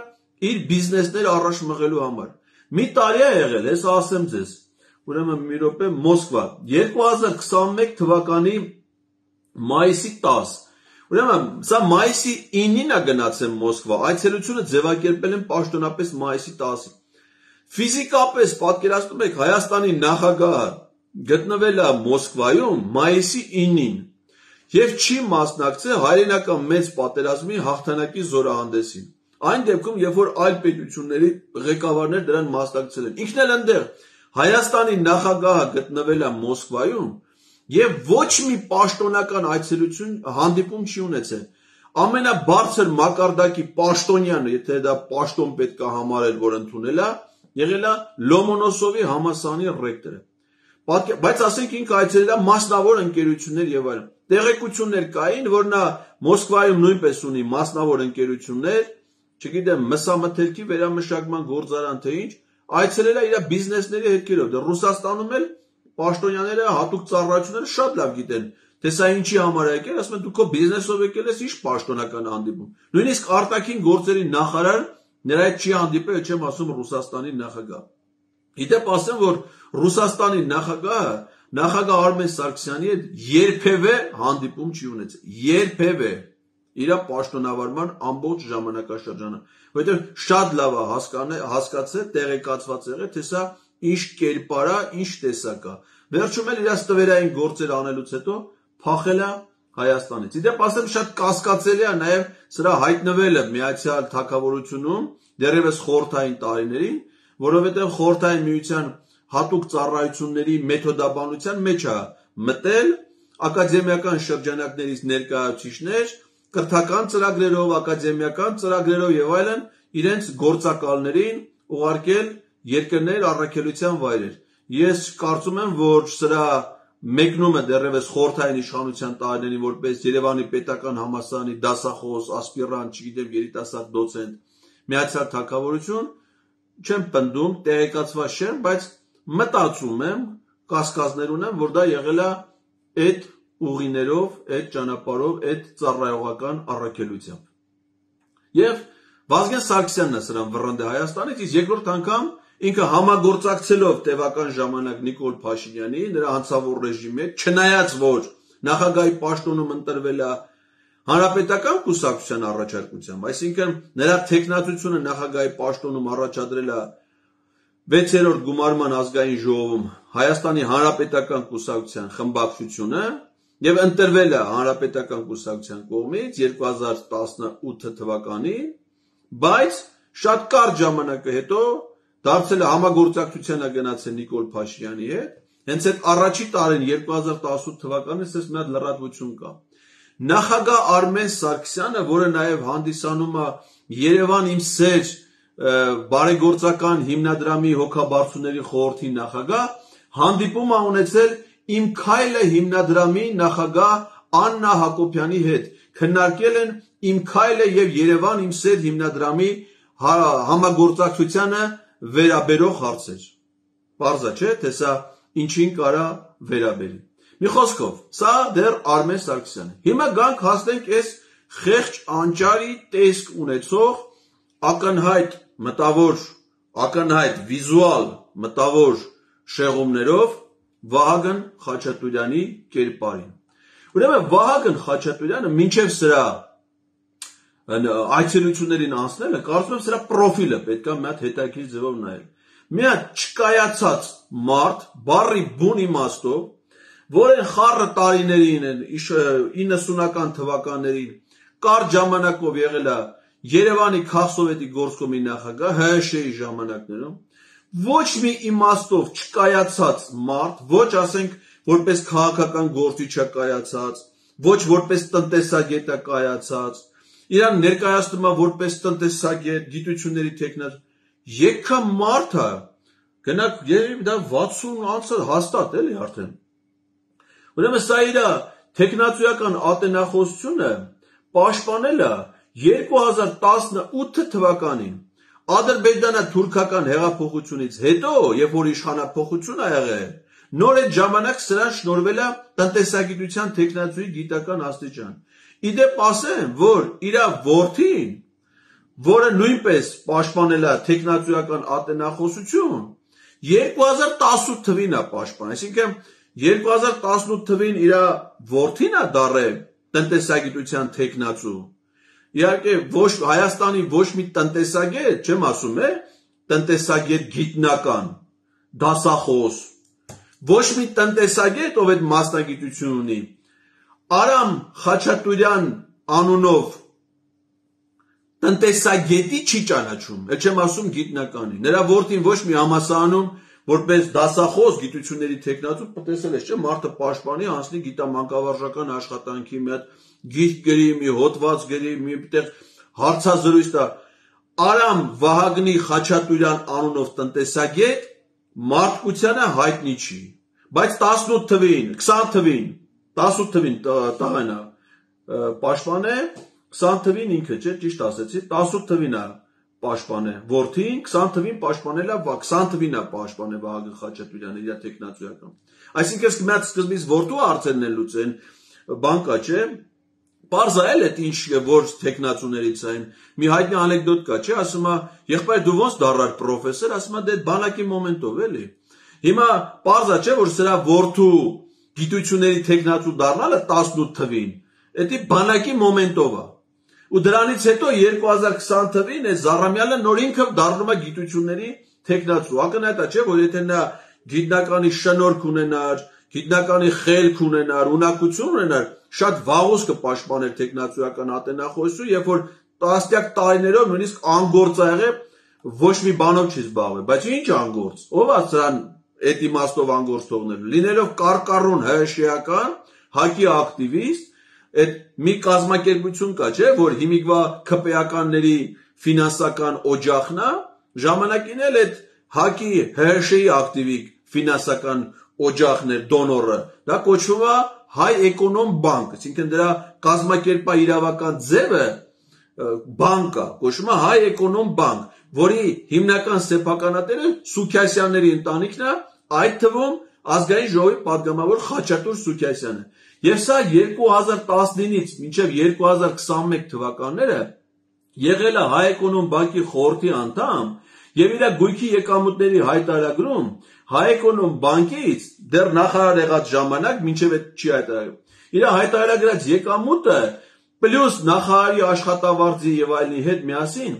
իր բիզնեսները առաջ մղելու համար։ Մի տարի է եղել, հեսա ասեմ ձեզ, ուրեմն մի րոպե Մոսկվա, երկու հազար քսաներեք թվականի մայիսի տասը, ուրեմն սա մայիսի ինին է գնացել Մոսկվա, այցելությունը ձևակերպել են պաշտոնապես մայիսի տասին։ Ֆիզիկապես պատկերացնում եք Հայաստանի նախագահը գտնվել է Մոսկվայում մայիսի ինին եւ չի մասնակցել հայրենական մեծ պատերազմի հաղթանակի զորահանդեսին։ Այն դեպքում, երբ որ այլ պետությունների ղեկավարներ դրան մասնակցել են։ Ինքն էլ այնտեղ Հայաստանի նախագահը գտնվել է Մոսկվայում եւ ոչ մի պաշտոնական այցելություն հանդիպում չի ունեցել։ Ամենաբարձր մակարդակի պաշտոնյանը, եթե դա պաշտոն պետք է համարել, որ ընդունել է, եղել է Լոմոնոսովի համալսարանի ռեկտորը։ Բայց ասենք ինքը այցելել է մասնավոր ընկերություններ եւ այլն։ Տեղեկություններ կային, որ նա Մոսկվայում նույնպես ունի մասնավոր ընկերություններ, չգիտեմ, մսամթերքի վերամշակման գործարան թե ինչ, այցելել է իր բիզնեսների հետքերով։ Դե Ռուսաստանում էլ պաշտոնյաները հատուկ ծառայությունները շատ լավ գիտեն, թե սա ինչի համար է եկել, ասում են դու քո բիզնեսով եկել ես, ինչ պաշտոնական հանդիպում։ Նույնիսկ արտաքին գործերի նախարար նրա հետ չի հանդիպել, չեմ ասում Ռուսաստանի նախագահ։ Իդեպ ասեմ, որ Ռուսաստանի նախագահը նախագահ Արմեն Սարգսյանի հետ երբևէ հանդիպում չի ունեցել, երբևէ իր պաշտոնավարման ամբողջ ժամանակաշրջանը, որովհետև շատ լավ է հասկացել, տեղեկացված եղել, թե սա ինչ կերպար է, ինչ տեսակ է։ Վերջում էլ իր ստվերային գործեր անելուց հետո փախել է Հայաստանից։ Իդեպ ասեմ, շատ կասկածելի է նաև սրա հայտնվելը Միացյալ Թագավորությունում դեռևս խորհրդային տարիներին, որովհետև խորհրդային միության հատուկ ծառայությունների մեթոդաբանության մեջ է մտել ակադեմիական շրջանակներից ներկայացուցիչներ, կրթական ծրագրերով, ակադեմիական ծրագրերով եւ այլն իրենց գործակալներին ուղարկել երկրներ առաքելության վայրեր։ Ես կարծում եմ, որ սրա մեկնումը դեռևս խորհրդային իշխանության տարիներին որպես Երևանի պետական համալսարանի դասախոս, ասպիրանտ, չգիտեմ, երիտասարդ դոցենտ, Միացյալ Թագավորություն, չեմ պնդում, տեղեկացված չեմ, բայց մտածում եմ, կասկածներ ունեմ, որ դա եղել է այդ ուղիներով, այդ ճանապարհով, այդ ծառայողական առաքելությամբ։ Եվ Վազգեն Սարգսյանն է սրան վռնդե Հայաստանից, իսկ երկրորդ անգամ ինքը համագործակցելով տևական ժամանակ Նիկոլ Փաշինյանի, նրա հանցավոր ռեժիմի հետ, չնայած որ նախագահի պաշտոնում ընտրվել է Հանրապետական կուսակցության առաջարկությամբ, այսինքն նրա թեկնածությունը նախագահի պաշտոնում առաջադրել է վեցերորդ գումարման ազգային ժողովում Հայաստանի Հանրապետական կուսակցության խմբակցությունը եւ ընտրվել է Հանրապետական կուսակցության կողմից երկու հազար տասնութ թվականին, բայց շատ կարճ ժամանակը հետո դարձել է համագործակցության է գնացել Նիկոլ Փաշինյանի հետ, հենց այդ առաջի տարին երկու հազար տասնութ թվականին ասես մի հատ լրատվություն կա։ Նախագահ Արմեն Սարգսյանը, որը նաև հանդիսանում է Երևան իմ սեր բարեգործական հիմնադրամի հոգաբարձուների խորհրդի նախագահ, հանդիպում է ունեցել Իմ քայլը հիմնադրամի նախագահ Աննա Հակոբյանի հետ, քննարկել են Իմ քայլը եւ Երևան իմ սեր հիմնադրամի համագործակցությանը վերաբերող հարցեր։ Պարզ է, չէ՞, թե սա ինչին կարա վերաբերի։ Մի խոսքով, սա դեռ Արմեն Սարգսյանն է։ Հիմա գանք հասնենք այս խեղճ անճարի տեսք ունեցող ակնհայտ մտավոր, ակնհայտ վիզուալ մտավոր շեղումներով Վահագն Խաչատուրյանի կերպարին։ Ուրեմն Վահագն Խաչատուրյանը մինչև սրա այցելություններին անցնելը, կարծում եմ սրա պրոֆիլը պետք է մի հատ հետաքրքիր ձևով նայել։ Մի հատ չկայացած մարդ, բառի բուն իմաստով, որ այն խառը տարիներին, իննսունական թվականներին կարճ ժամանակով եղել է Երևանի քաղսովետի գործկոմի նախագահ Հ Շ Ի ժամանակներում, ոչ մի իմաստով չկայացած մարդ, ոչ ասենք որպես քաղաքական գործիչ է կայացած, ոչ որպես տնտեսագետ է կայացած, իրան ներկայացնում է որպես տնտեսագետ, գիտությունների տեխնոկ, եկա մարդ է, գնաք երևի դա վաթսուն անցը հաստատ էլի արդեն։ Ուրեմն սա իր տեխնացուական ատենախոսությունը պաշտպանել է երկու հազար տասնութ թվականին ադրբեջանա-թուրքական հեղափոխությունից հետո, երբ որ իշխանափոխություն ա եղել, նոր այդ ժամանակ սրան շնորհվել է տնտեսագիտության տեխնացուի գիտական աստիճան։ Իդեպ ասեմ, որ իր որդին որը նույնպես պաշտպանել է տեխնացուական ատենախոսություն, երկու հազար տասնութ թվին է պաշտպան, այսինքն երկու հազար տասնութ թվին իր որդին է դառել տնտեսագիտության տեխնացու։ Իհարկե ոչ Հայաստանի ոչ մի տնտեսագետ, չեմ ասում է, տնտեսագետ գիտնական, դասախոս, ոչ մի տնտեսագետ, ով այդ մասնագիտություն ունի, Արամ Խաչատուրյան անունով տնտեսագետի չի ճանաչում, էլ չեմ ասում գիտնականի, նրա որդին ոչ մի համալսարանում որպես դասախոս գիտությունների տեխնացու տեսել ես, չէ՞, մարդը պաշտպանի, անցնի գիտամանկավարժական աշխատանքի մի հատ գիրք գրի, մի հոդված գրի, մի տեղ հարցազրույց տա։ Արամ Վահագնի Խաչատուրյան անունով տնտեսագետ մարդկությանը հայտնի չի, բայց տասնութ թվին, քսան թվին, տասնութ թվին տղան է պաշտպան է, քսան թվին ինքը, չէ, ճիշտ ասեցի, տասնութ թվին է պաշտպան է որդին, քսան թվին պաշտպանել է, քսան թվին է պաշտպան է Վահագն Խաչատուրյանը իր տեխնացուական։ Այսինքն մի հատ սկզբից որդու հարցերն են լուծեն, բանկա, չէ, Պարզ է էլ այդ ինչ որ տեխնացուներից այն, մի հայտնի անեկդոտ կա, չէ, ասում է, եղբայր դու ոնց դառար պրոֆեսոր, ասում է, դե բանակի մոմենտով էլի։ Հիմա պարզ է, չէ, որ սրա որդու գիտությունների տեխնացու դառնալը տասնութ թվին, դա բանակի մոմենտով է։ Ու դրանից հետո երկու հազար քսան թվին է Զառամյանը նոր ինքը դառնում է գիտությունների տեխնացու։ Ակնհայտ է, չէ, որ եթե նա գիտնականի շնորհք ունենար, գիտնականի խելք ունենար, ունակություն ունենար, շատ վաղուց կպաշտպաներ տեխնացուական ատենախոսություն, երբ որ տասնյակ տարիներով նույնիսկ անգործ ա եղել, ոչ մի բանով չի զբաղվել, բայց ինչ անգործ, ով է սրան այդ իմաստով անգործ թողնելու, լինելով կարկառուն ՀՇ-ական, ՀԱԿ-ի ակտիվիստ, այդ մի կազմակերպություն կա, չէ, որ հիմիկվա ՔՊ-ականների ֆինանսական օջախն է, ժամանակին էլ այդ ՀԱԿ-ի ՀՀՇ-ի ակտիվիկ ֆինանսական օջախն էր դոնորը, դա կոչվում է Հայ էկոնոմ բանկ, այսինքն դրա կազմակերպա իրավական ձևը բանկ է, կոչվում է Հայ էկոնոմ բանկ, որի հիմնական սեփականատերը Սուքիասյանների ընտանիքն է, այդ թվում ազգային ժողովի պատգամավոր Խաչատուր Սուքիասյանը։ Եվ սա երկու հազար տասնինից մինչև երկու հազար քսանմեկ թվականները եղել է Հայ էկոնոմ բանկի խորհրդի անդամ եւ իր գույքի եկամուտների հայտարարում Հայ էկոնոմ բանկից դեռ նախարար եղած ժամանակ մինչև այդ չի հայտարարում։ Իր հայտարարած եկամուտը պլյուս նախարարի աշխատավարձի եւ այլնի հետ միասին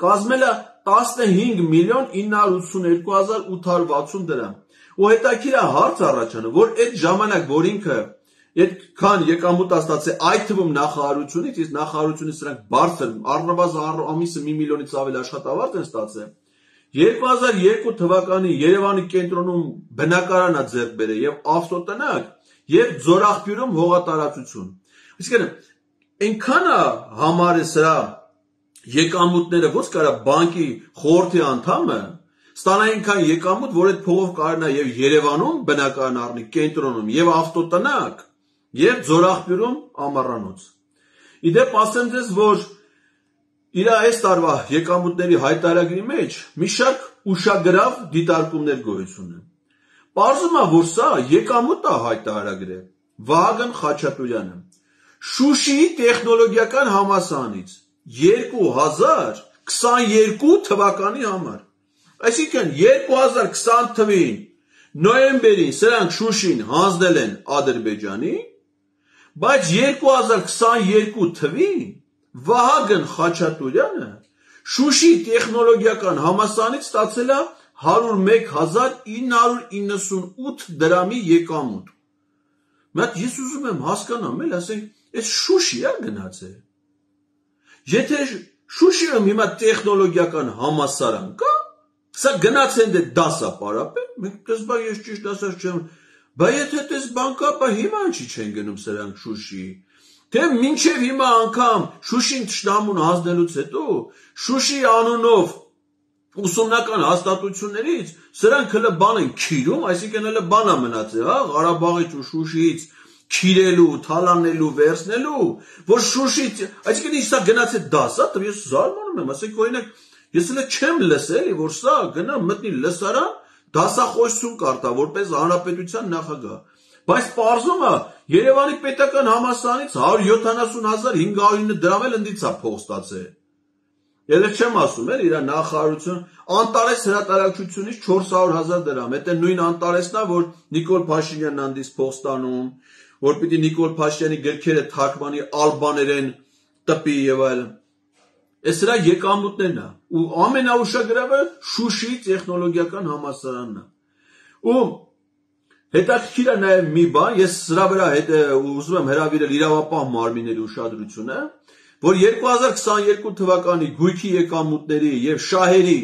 կազմել է տասնհինգ միլիոն ինը հարյուր ութսուներկու հազար ութ հարյուր վաթսուն դրամ։ Ու հետաքրքիր է հարց առաջանում, որ այդ ժամանակ, որ ինքը այդքան եկամուտ ստացել, այդ թվում նախարարությունից, իսկ նախարարությունից սրանք բարձր, առնվազն ամիսը մի միլիոնից ավել աշխատավարձ են ստացել։ երկու հազար երկու թվականի Երևանի կենտրոնում բնակարան է ձեռք բերել եւ ավտոտնակ եւ Ձորախբյուրում հողատարածություն։ Այսինքն այնքան է համար է սրա եկամուտները, ոնց կարա բանկի խորհրդի անդամը ստանա այնքան եկամուտ, որ այդ փողով կարողանա եւ Երևանում բնակարան առնի, կենտրոնում եւ ավտոտնակ եւ Ձորախբյուրում ամառանոց։ Իդեպ ասեմ ձեզ, որ իր այս տարվա եկամուտների հայտարարի մեջ մի շարք ուշագրավ դիտարկումներ գոյություն ունեն։ Պարզվում է, որ սա եկամուտ է հայտարարել Վահագն Խաչատուրյանը Շուշիի տեխնոլոգիական համալսարանից երկու հազար քսաներկու թվականի համար։ Այսինքն երկու հազար քսան թվին նոյեմբերին սրանք Շուշին հանձնել են Ադրբեջանի, բայց երկու հազար քսաներկու թվին Վահագն Խաչատուրյանը Շուշի տեխնոլոգիական համալսարանից ստացել է հարյուր մեկ հազար ինը հարյուր իննսունութ դրամի եկամուտ։ Մատ ես ուզում եմ հասկանամ, էլ ասենք, այս Շուշի է գնացել։ Եթե Շուշիում հիմա տեխնոլոգիական համալսարան կա, սա գնացել դե դասա պարապել, մենք կզբա ես ճիշտ ասած չեմ, բա եթե դες բանկա, բա հիմա ինչի չեն գնում սրանք Շուշի։ Թե մինչև հիմա անգամ Շուշին թշնամուն հանձնելուց հետո Շուշի անունով ուսումնական հաստատություններից սրանք հələ բան են քիրում, այսինքն հələ բան է մնացել, հա, Ղարաբաղից ու Շուշիից քիրելու, թալանելու, վերցնելու, որ Շուշի, այսինքն սա գնացել դասա, ես զարմանում եմ, ասենք օրինակ, ես հələ չեմ լսել, որ սա գնա մտնի լսարան, դասախոսություն կարտա, որպես հանրապետության նախագահ։ Բայց պարզում է Երևանի պետական համալսարանից հարյուր յոթանասուն հազար հինգ հարյուր ինը դրամ էլ ընդից է փող ստացել։ Ես չեմ ասում, էլ իր նախարարություն Անտարես հրատարակչությունից չորս հարյուր հազար դրամ, դա նույն Անտարեսն է, որ Նիկոլ Փաշինյանն անդից փող ստանում, որ պիտի Նիկոլ Փաշինյանի գրքերը թարգմանի ալբաներեն տպի եւ այլն։ Այս դրա եկամուտներն է, ու ամենաուշագրավը Շուշի տեխնոլոգիական համալսարանն է։ Ու հետաքրքիր է նաեւ մի բան, ես սրա վրա հետ ուզում եմ հրավիրել իրավապահ մարմինների ուշադրությունը, որ երկու հազար քսաներկու թվականի գույքի եկամուտների եւ շահերի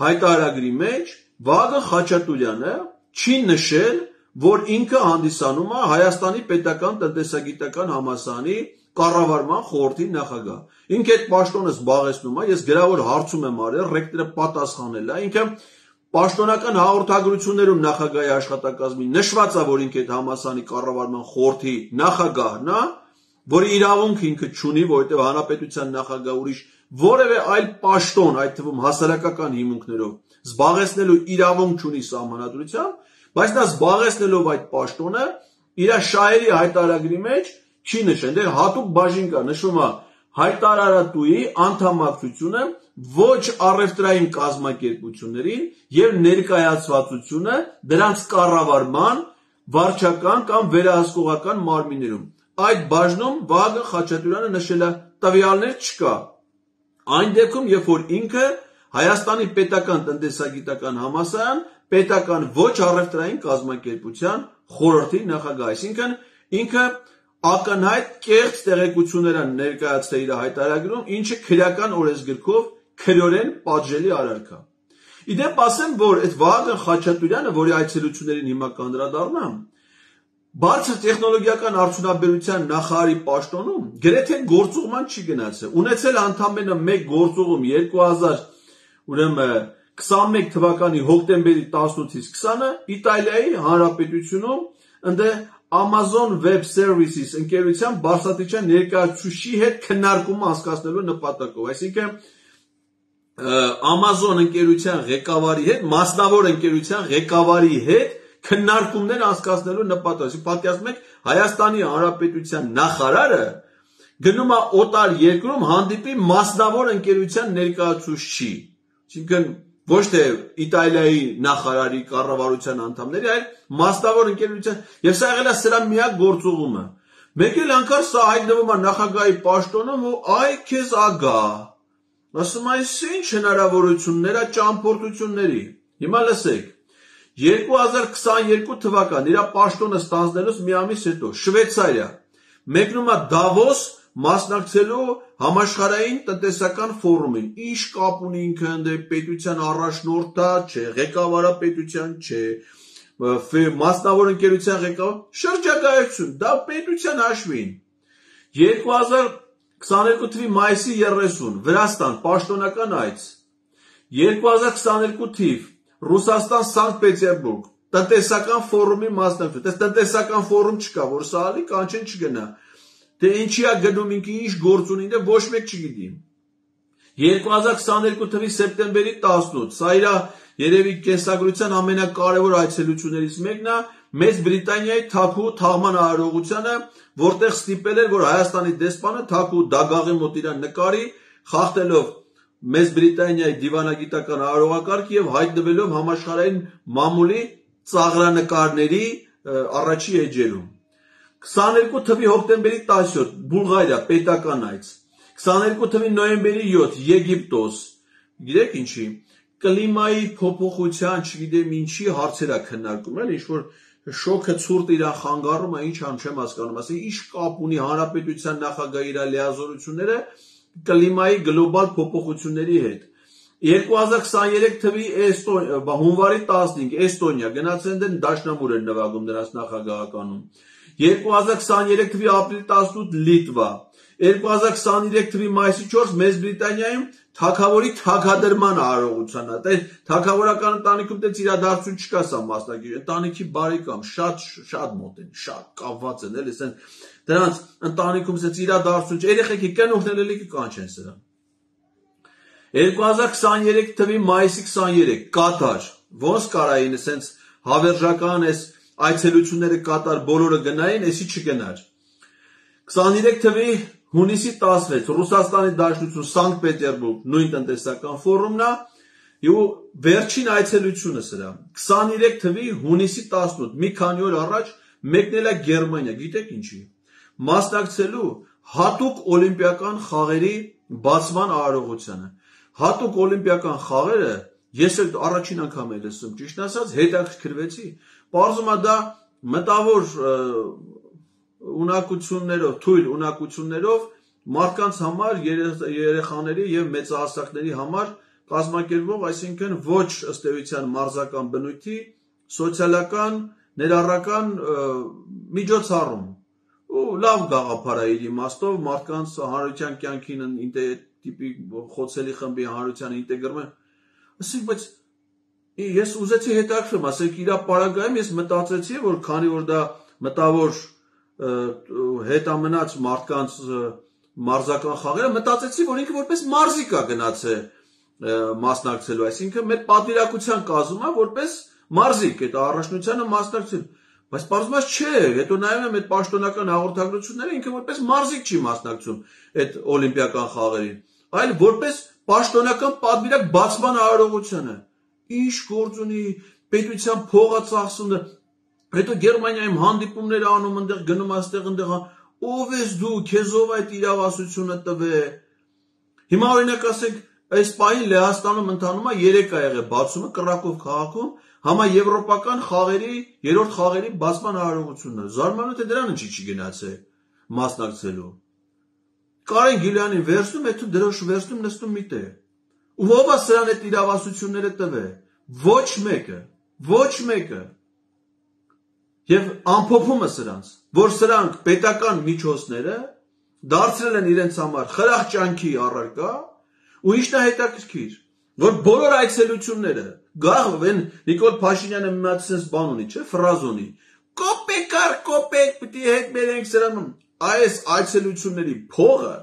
հայտարարագրի մեջ Վագն Խաչատուրյանը չի նշել, որ ինքը հանդիսանում է Հայաստանի պետական տնտեսագիտական համալսարանի կառավարման խորհրդի նախագահ։ Ինքը այդ պաշտոնը զբաղեցնում է, ես գրավոր հարցում եմ արել, ռեկտորը պատասխանել է, ինքը պաշտոնական հաղորդագրություններում նախագահի աշխատակազմի նշված է, որ ինքը այդ համալսարանի կառավարման խորհրդի նախագահն է, որի իրավունք ինքը չունի, որովհետև հանրապետության նախագահ ուրիշ որևէ այլ պաշտոն, այդ թվում հասարակական հիմունքներով զբաղեցնելու իրավունք չունի սահմանադրությամբ, բայց նա զբաղեցնելով այդ պաշտոնը իր շահերի հայտարարագրի մեջ չի նշել, դեռ հատուկ բաժին կա, նշում է հայտարարատուի անդամակցությունը ոչ առևտրային կազմակերպություններին եւ ներկայացվածությունը դրանց կառավարման վարչական կամ վերահսկողական մարմիններում։ Այդ բաժնում Վագն Խաչատուրյանը նշել է տվյալներ չկա։ Այն դեպքում, երբ որ ինքը Հայաստանի պետական տնտեսագիտական համալսարան պետական ոչ առևտրային կազմակերպության խորհրդի նախագահ, այսինքն ինքը ակնհայտ կեղծ տեղեկություններ են ներկայացրել իր հայտարարագրում, ինչը քրեական օրենսգրքով քրեորեն պատժելի արարք է։ Իդեպ ասեմ, որ այդ Վագն Խաչատուրյանը, որի այցելություններին հիմա կանդրադառնամ, բարձր տեխնոլոգիական արդյունաբերության նախարարի պաշտոնում գրեթե գործուղման չի գնացել։ Ունեցել ընդամենը մեկ գործուղում երկու հազար քսաներկու թվականի հոկտեմբերի տասնութից քսանը Իտալիայի Հանրապետությունում ընդ Amazon Web Services ընկերության բարձրաստիճան ներկայացուցիչի հետ քննարկում անցկացնելու նպատակով, այսինքն Amazon ընկերության ղեկավարի հետ, մասնավոր ընկերության ղեկավարի հետ քննարկումներ անցկացնելու նպատակով։ Պատկերացնում եք, Հայաստանի Հանրապետության նախարարը գնում է օտար երկրում հանդիպի մասնավոր ընկերության ներկայացուցիչի, այսինքն ոչ թե Իտալիայի նախարարի կառավարության անդամների, այլ մասնավոր ընկերության, եւ սա եղել է սրա միակ գործուղումը։ Մեկ էլ անգամ սա հայտնվում է նախագահի պաշտոնում ու այ քեզ ագա։ Ասում է, ինչ հնարավորություններ է ճամփորդությունների։ Հիմա լսեք, երկու հազար քսաներկու թվական իր պաշտոնը ստանձնելուց մի ամիս հետո Շվեյցարիա մեկնում է Դավոս մասնակցելու համաշխարհային տնտեսական ֆորումին։ Ինչ կապ ունի ինքը ընդ պետության առաջնորդա, չէ, ղեկավարը պետության չէ, մասնավոր ընկերության ղեկավար, շրջագայություն, դա պետության հաշվին։ երկու հազար քսաներկու թվականի մայիսի երեսուն Վրաստան պաշտոնական այց։ երկու հազար քսաներկու թիվ Ռուսաստան Սանկտ Պետերբուրգ տնտեսական ֆորումի մասնակցություն։ Դες տնտեսական ֆորում չկա, որ սա ալի կանչեն չգնա։ Դե ինչի է գնում ինքը, ինչ գործ ունի, դե ոչ մեկ չգիտի։ երկու հազար քսաներկու թվականի սեպտեմբերի տասնութ, սա իր երևի կենսագրության ամենակարևոր այցելություններից մեկն է Մեծ Բրիտանիայի Թաքու թաղման արարողությանը, որտեղ ստիպել էր, որ Հայաստանի դեսպանը Թաքու դագաղի մոտ իրան նկարի, խախտելով Մեծ Բրիտանիայի դիվանագիտական արարողակարգը եւ հայտնվելով համաշխարհային մամուլի ծաղրանկարների առաջի էջերում։ քսաներկու թվականի հոկտեմբերի տասնյոթ Բուլղարիա պետական այց։ քսաներկու թվականի նոյեմբերի յոթ Եգիպտոս։ Գիտեք ինչի։ Կլիմայի փոփոխության, չգիտեմ ինչի հարցեր է քննարկում, էլ ինչ որ շոկը ցուրտ իրան խանգարում է, ինչ ամ չեմ հասկանում, ասի ինչ կապ ունի հանրապետության նախագահի իր լիազորությունները կլիմայի գլոբալ փոփոխությունների հետ։ երկու հազար քսաներեք թվականի հունվարի տասնհինգ Էստոնիա գնացել են դաշնամուր են նվագում նրանց նախագահականում։ երկու հազար քսաներեք թվականի ապրիլի տասնութ Լիտվա։ երկու հազար քսաներեք թվականի մայիսի չորս Մեծ Բրիտանիայում թագավորի թագադրման արարողությանը։ Դե թագավորական ընտանիքում դից իրադարձություն չկա սա մասնակից։ Ընտանիքի բարեկամ, շատ շատ մոտ են, շատ կապված են, էլի ասեն դրանց ընտանիքում ասած իրադարձություն, երեխեքի կնուղներ էլի կանչեն սրան։ երկու հազար քսաներեք թվականի մայիսի քսաներեք Կատար։ Ոնց կարային ասենց հավերժական էս այցելությունները կատար բոլորը գնային, էսի չգնար։ քսաներեք թվականի հունիսի տասնվեց Ռուսաստանի Դաշնություն Սանկտ Պետերբուրգ նույն տնտեսական ֆորումն է ու վերջին այցելությունը սրա քսաներեք թվականի հունիսի տասնութ մի քանի օր առաջ մեկնել է Գերմանիա, գիտեք ինչի, մասնակցելու հատուկ օլիմպիական խաղերի բացման արարողությանը։ Հատուկ օլիմպիական խաղերը ես էլ առաջին անգամ եմ լսում, ճիշտ ասած հետաքրքրվեցի, պարզվում է դա մտավոր ունակություններով, թույլ ունակություններով մարդկանց համար, երեխաների եւ մեծահասակների համար կազմակերպվող, այսինքն ոչ ըստ էության մարզական բնույթի, սոցիալական, ներառական միջոցառում ու լավ գաղափար է իր իմաստով մարդկանց հանրության կյանքին տիպի խոցելի խմբի հանրության ինտեգրումը, ասենք, բայց ես ուզեցի հետաքրքրեմ, ասենք իր պարագայում ես մտածեցի, որ քանի որ դա մտավոր հետամնաց մարդկանց մարզական խաղերը, մտածեցի, որ ինքը որպես մարզիկ է գնացել մասնակցելու, այսինքն մեր պատվիրակության կազմում է որպես մարզիկ, այդ առաջնությանը մասնակցել, բայց պարզվում չէ, հետո նայում եմ այդ պաշտոնական հաղորդագրությունները, ինքը որպես մարզիկ չի մասնակցում այդ օլիմպիական խաղերին, այլ որպես պաշտոնական պատվիրակ բացման արարողությանը, ինչ գործ ունի, պետության փողը ծախսում, հետո Գերմանիայում հանդիպումներ անում, այնտեղ գնում այստեղ այնտեղ, ով ես դու, քեզ ով այդ իրավասությունը տվե։ Հիմա օրինակ ասենք, այս պահին Լեհաստանում ընթանում է երեք ա եղել բացումը Կրակով քաղաքում համաեվրոպական խաղերի, երրորդ խաղերի բացման արարողությունը։ Զարմանում թե դրան ինչի չի գնացել մասնակցելու։ Կարեն Գիլյանին վերցնում, հետո դրոշ վերցնում, նստում մի տեղ։ Ու ով է սրան այդ իրավասությունները տվե։ Ոչ մեկը, ոչ մեկը։ Եվ ամփոփումը սրանց, որ սրանք պետական միջոցները դարձրել են իրենց համար խրախճանքի առարկա, ու ինչն է հետաքրքիր, որ բոլոր այցելությունները գաղ են Նիկոլ Փաշինյանը մի հատ sense բան ունի, չէ, ֆրազ ունի։ Կոպեկ առ կոպեկ պիտի հետ բերենք սրան։ Այս այցելությունների փողը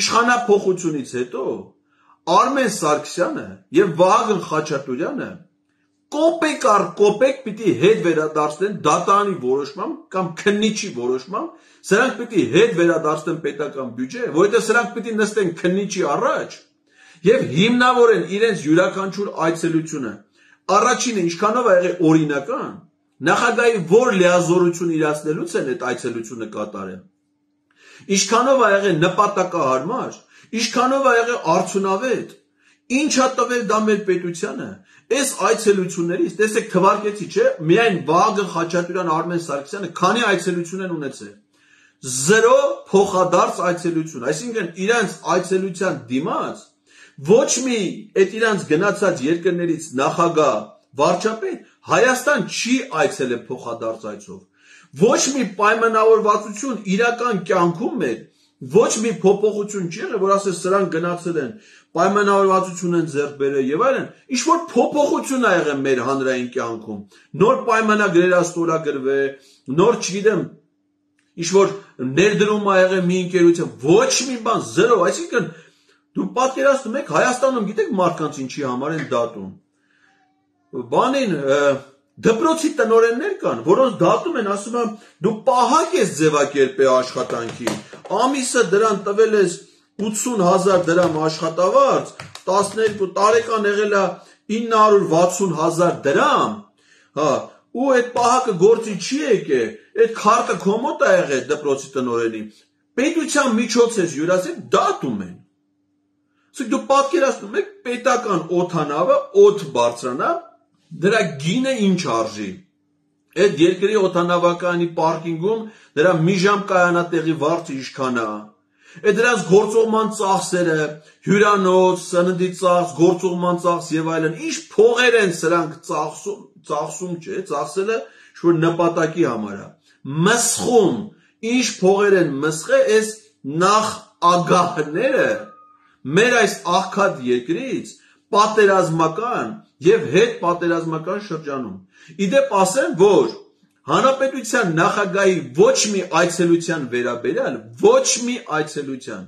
իշխանափոխությունից հետո Արմեն Սարգսյանը եւ Վահագն Խաչատուրյանը կոպեկ առ կոպեկ պիտի հետ վերադարձնեն դատարանի որոշմամբ կամ քննիչի որոշմամբ, սրանք պիտի հետ վերադարձնեն պետական բյուջե, որովհետեւ սրանք պիտի նստեն քննիչի առաջ եւ հիմնավորեն իրենց յուրաքանչյուր այցելությունը։ Առաջինը ինչքանով է եղել օրինական, նախագահի որ լիազորություն իրացնելուց են այդ այցելությունը կատարել։ Ինչքանով է եղել նպատակահարմար, ինչքանով է եղել արդյունավետ, ինչ է տվել դա մեր պետությանը։ Այս այցելություններից, տեսեք թվարկեցի, չէ, միայն Վահագն Խաչատուրյան, Արմեն Սարգսյանը քանի այցելություն են ունեցել։ Զերո փոխադարձ այցելություն, այսինքն իրանց այցելության դիմաց ոչ մի այդ իրանց գնացած երկրներից նախագահ, վարչապետ Հայաստան չի այցելել փոխադարձ այցով։ Ոչ մի պայմանավորվածություն իրական կյանքում մեր ոչ մի փոփոխություն չի եղել, որ ասես սրանք գնացել են, պայմանավորվածություն են ձեռք բերել եւ այլն, ինչ որ փոփոխություն ա եղել մեր հանրային կյանքում, նոր պայմանագրեր ա ստորագրվել, նոր չգիտեմ, ինչ որ ներդրում ա եղել մի ընկերություն, ոչ մի բան, զերո, այսինքն դու պատկերացնում եք Հայաստանում գիտեք մարդկանց ինչի համար են դատում։ Բանին դպրոցի տնօրեններ կան, որոնց դատում են, ասում են դու պահակ ես ձևակերպել աշխատանքի, ամիսը դրան տվել ես ութսուն հազար դրամ աշխատավարձ, տասներկու տարեկան եղել է ինը հարյուր վաթսուն հազար դրամ, հա, ու այդ պահակը գործի չի եկել, այդ քարտը քո մոտ է եղել դպրոցի տնօրենի, պետության միջոցից յուրացել դատում են։ Իսկ դու պատկերացնում եք պետական օդանավը օդ բարձրանա, դրա գինը ինչ արժի։ Այդ երկրի օդանավականի պարկինգում դրա մի ժամ կայանատեղի վարձը ինչքան է։ Այդ դրանց գործողման ծախսերը, հյուրանոց, սննդի ծախս, գործողման ծախս եւ այլն, ինչ փողեր են սրանք ծախսում, ծախսում չէ, ծախսելը ինչ-որ նպատակի համար է։ Մսխում, ինչ փողեր են մսխել այս նախ ագահները մեր այս աղքատ երկրից պատերազմական եւ հետ պատերազմական շրջանում։ Իդեպ ասեմ, որ հանրապետության նախագահի ոչ մի այցելության վերաբերյալ, ոչ մի այցելության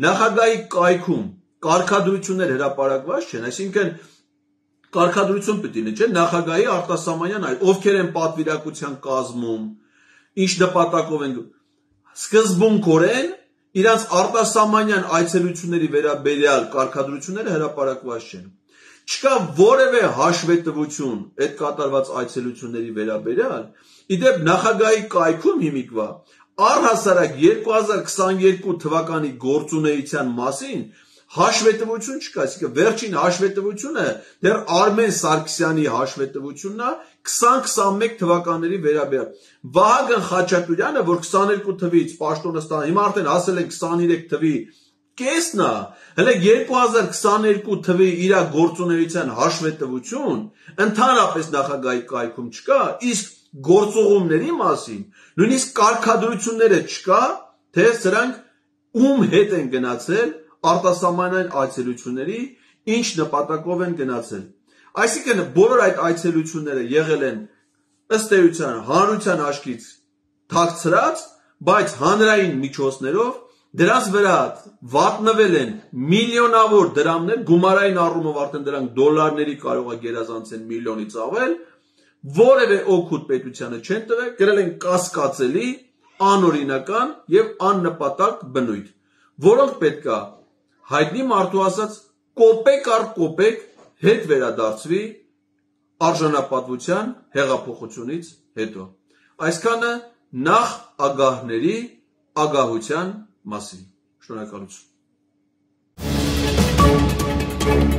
նախագահի կայքում կարգադրություններ հրապարակված չեն, այսինքն կարգադրություն պետք է լինի, չէ՞, նախագահի արտասահմանյան այլ, ովքեր են պատվիրակության կազմում, ինչ նպատակով են սկզբունքորեն իրանց արտասահմանյան այցելությունների վերաբերյալ կարգադրությունները հրապարակված չեն։ Չկա որևէ հաշվետվություն այդ կատարված այցելությունների վերաբերյալ, իդեպ նախագահի կայքում հիմիկվա առհասարակ երկու հազար քսաներկու թվականի գործունեության մասին հաշվետվություն չկա, այսինքն վերջին հաշվետվությունը դեռ Արմեն Սարգսյանի հաշվետվությունն է քսան քսանմեկ թվականների վերաբերյալ։ Վահագն Խաչատուրյանը, որ քսաներկու թվից պաշտոնը, հիմա արդեն հասել են քսաներեք թվի կեսն է, հələ երկու հազար քսաներկու թվի իր գործունեության հաշվետվություն ընդհանրապես նախագահի կայքում չկա, իսկ գործողումների մասին նույնիսկ կարգադրությունները չկա, թե սրանք ում հետ են գնացել արտասահմանյան այցելությունների, ինչ նպատակով են գնացել։ Այսինքն բոլոր այդ այցելությունները եղել են ըստ էության հանրության աչքից թաքցրած, բայց հանրային միջոցներով դրանց վրա վատնվել են միլիոնավոր դրամներ, գումարային առումով արդեն դրանք դոլարների կարող է գերազանցեն միլիոնից ավել, որևէ օգուտ պետությանը չեն տվել, գրել են կասկածելի, անօրինական եւ աննպատակ բնույթ, որոնք պետք է հայտնի մարդու ասած կոպեկ առ կոպեկ հետ վերադարձվի արժանապատվության հեղափոխությունից հետո։ Այսքանը նախ ագահների ագահության մասին։ Շնորհակալություն։